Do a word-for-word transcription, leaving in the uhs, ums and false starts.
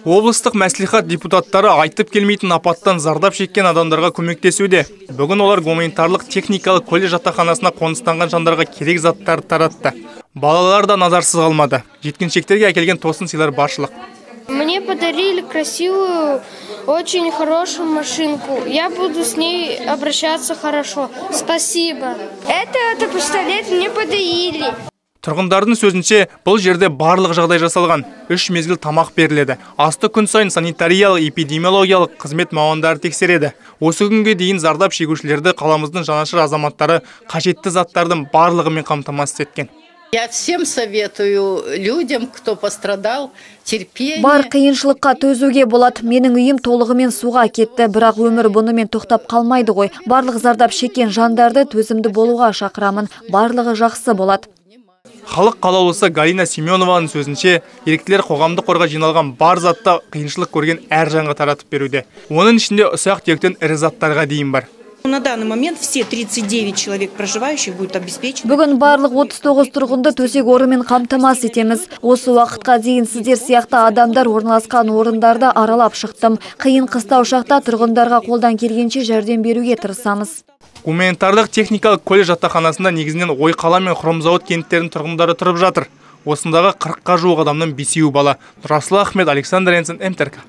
Облыстық мәслихат депутаттары айтып келмейтін апаттан зардап шеккен адамдарға көмектесуде. Бүгін олар гуманитарлық техникалық колледж жатақханасына қоныстанған жандарға керек заттарды таратты. Балалар да назарсыз қалмады. Жеткіншектерге әкелген тосын сыйлар баршылық. Мне подарили красивую, очень хорошую машинку. Я буду с ней обращаться хорошо. Спасибо. Это, это пистолет мне подарили. Тұрғындардың сөзінше, бұл жерде барлық жағдай жасалған. Үш мезгіл тамақ беріледі. Асты күн сайын санитариялық, эпидемиологиялық қызмет мамандары тексереді. Осы күнге дейін зардап шегушілерді қаламыздың жанашыр азаматтары қажетті заттардың барлығымен қамтамасыз еткен. Я всем советую людям, кто пострадал, терпение. Бар қиыншылыққа төзуге болады. Менің үйім толығымен суға кетті, бірақ өмір бұнымен тоқтап қалмайды ғой. Барлық зардап шеккен жандарды төзімді болуға шақырамын. Барлығы жақсы болады. Халық қалаулысы Галина Семенованың сөзінше, еріктілер қоғамдық қорға жиналған бар затта қиыншылық көрген әр жанға таратып беруде. Оның ішінде ұсақ түйектен ірі заттарға дейін бар. На данный момент все тридцать девять человек проживающих будут обеспечены. Бүгін барлық отыз тоғыз тұрғынды төсек орынмен қамтамасыз етеміз. Осы уақытқа дейін сіздер сияқты адамдар орналасқан орындарда аралап шықтым. Қиын қыстау шақта тұрғындарға қолдан келгенше жәрдем беруге тырысамыз. Гуманитарлық техникалық колледж жатақханасында негізінен Ойқала мен Хромзауыт кенттерінің тұрғындары тұрып жатыр. Осындағы қырыққа жуық адамның бесеуі бала. Расул Ахмет, Александр Энсен, МТРК.